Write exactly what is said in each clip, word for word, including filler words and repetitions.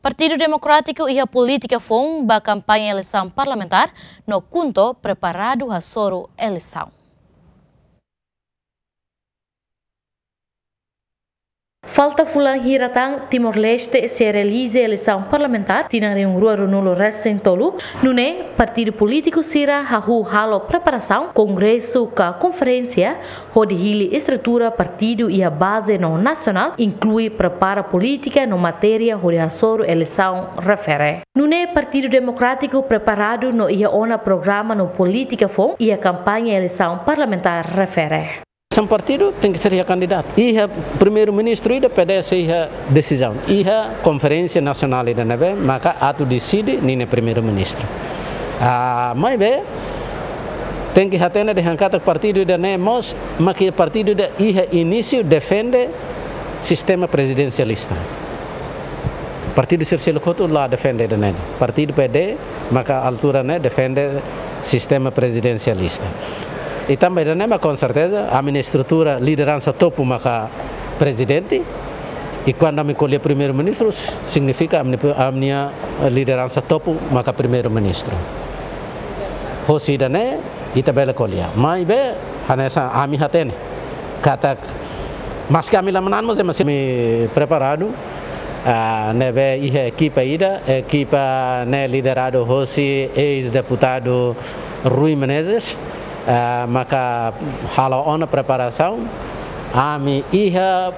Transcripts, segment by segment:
Partidu Demokrátiku iha polítika foun ba kampaña eleisaun parlamentár no KHUNTO preparadu hasoru eleisaun. Falta fulan hira tan Timor-Leste sei realiza eleisaun parlamentár tinan rihun rua ruanulu resin tolu, nune'e partidu polítiku sira hahú halo preparasaun, kongresu ka konferénsia, hodi hili estrutura partidu iha baze no nasionál, inklui prepara polítika no matéria hodi hasoru eleisaun refere. Nune'e Partidu Demokrátiku preparadu no iha ona programa no polítika foun iha kampaña eleisaun parlamentár refere. Sem partidu tenke ser iha kandidatu. Iha primeiru-ministru ida P D S iha desizaun. Iha konferénsia nasionál ida ne'ebé maka atu deside ninia primeiru-ministru. Ah, maibé tenke hatene dehan katak partidu ida-ne'e mós, maka partidu ida iha inísiu defende sistema prezidensialista. Partidu sira seluk hotu la defende ida-ne'e. Partidu P D maka altura ne'e defende sistema prezidensialista. I tanba ida-ne'e mak konserteza ami-nia estrutura lideransa topu maka prezidente. I kuandu ami ko'alia primeiru-ministru, signifika ami, ami-nia lideransa topu maka primeiru-ministru. Hosi ida-ne'e ita bele ko'alia. Maibé hanesan ami hatene katak, maski ami la manán mós, maski ami preparadu, ah, ne'ebé iha ekipa ida, ekipa ne'e lideradu hosi eis-deputadu Rui Menezes, ah, maka halo ona preparasaun, ami iha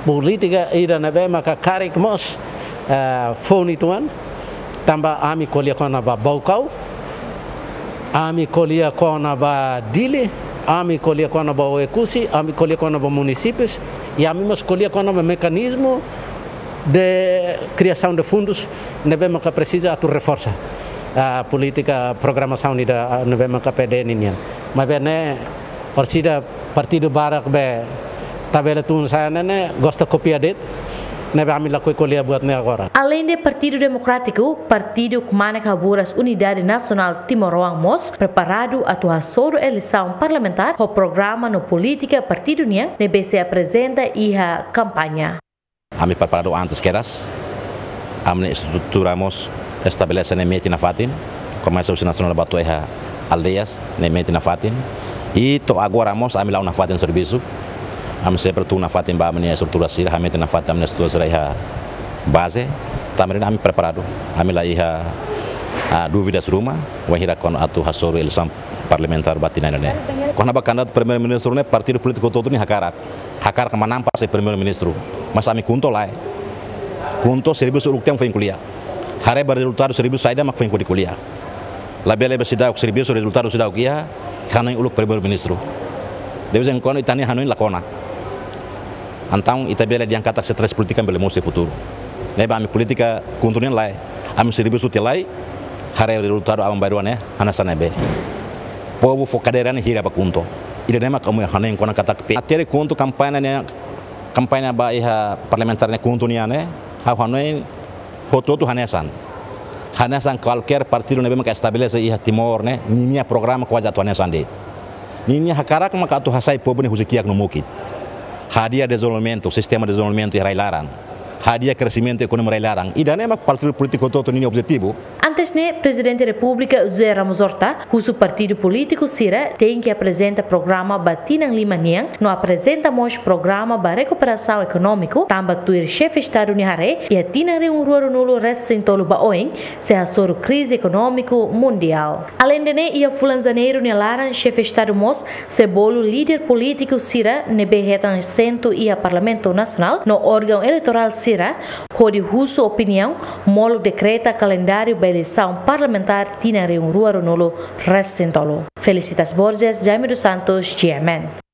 polítika ida ne'ebé maka karik mós, ah, foun uitoan, tanba ami ko'alia kona-ba Baucau, ami ko'alia kona-ba Dili, ami ko'alia kona-ba Oekusi, ami ko'alia kona-ba munisípius, i ami mós ko'alia kona-ba mekanizmu de kriasaun de fundus ne'ebé maka presiza atu reforsa, ah, polítika programasaun ida, ah, ne'ebé maka P D ninian. Maibé ne'e, orsida partidu barak be tabele tun sa'e ne'e, ne'e gosta kopia de'it, ne'ebé ami lakohi ko'alia buat ne'e agora. Aleinde Partidu Demokrátiku, partidu kmanek haburas unidade nasionál timoroan mós preparadu atu hasoru eleisaun parlamentár ho programa no polítika partidu nian ne'ebé sei aprezenta iha kampaña. Ami preparadu antes kedas. Ami-nia estrutura mós estabelese ne'e metin nafatin. Komesa husi nasionál ba to'o iha aldeias ne'e metin nafatin. I to'o agora mós ami la'o nafatin servisu. Ami sempre tun nafatin ba ami-nia estrutura sira, hametin nafatin ami-nia estrutura sira iha baze. Tanba ne'e ami preparadu. Ami la iha, ah, dúvidas ruma wainhira kona-ba atu hasoru eleisaun parlamentár ba tinan ne'e. Kona-ba kandidatu primeiru-ministru ne'e partidu polítiku hotu-hotu nia hakarak. Hakarak manán para sai primeiru-ministru. Mas ami KHUNTO lae. KHUNTO servisu uluk tiha mak foin ko'alia. Haree ba rezultadu servisu saida mak foin ko'alia. Labele ba seidauk servisu rezultadu seidauk iha, hanoin uluk primeiru-ministru. De vez em quando ita-nia hanoin la kona. Entaun ita bele dehan katak se tres polítika bele mosu iha futuru. Ne'ebé ami polítika KHUNTO nian lae. Ami servisu tiha lai, haree rezultadu aban-bainrua ne'e hanesan ne'ebé. Povu fó kadeira ne'e hira ba KHUNTO. Ida-ne'e mak ami hanoin kona katak pe. Até KHUNTO kampaña ne'e, kampaña ba iha parlamentár ne'e KHUNTO nian ne'e, ha'u hanoin hotu-hotu hanesan. Hanesan kualkér partidu ne'ebé maka estabelese iha Timor ne'e, ninia programa kuaze atu hanesan de'it. Ninia hakarak maka atu hasai povu ne'e husi kiak no mukit. Hadi'a dezenvolvimentu, sistema dezenvolvimentu iha rai-laran. Hadi'a kresimentu ekonomia rai-laran. Ida-ne'e mak partidu polítiku hotu-hotu ninia objetivu. Antes ne'e, Prezidente Repúblika José Ramos Horta husu partidu polítiku sira tenke aprezenta programa ba tinan lima nian, no aprezenta mós programa ba rekuperasaun ekonómiku, tanba tuir Xefe Estadu nia haree, iha tinan rihun rua ruanulu resin tolu ba oin, sei hasoru krize ekonómiku mundiál. Aleinde ne'e, iha fulan Janeiru nia laran, Xefe Estadu mós sei bolu líder polítiku sira ne'ebé hetan asentu iha Parlamentu Nasionál no órgaun eleitorál sira, hodi husu opiniaun molok dekreta kalendáriu ba eleisaun parlamentár tinan rihun rua ruanulu resin tolu. Felicitas Borges, Jaime dos Santos, G M N.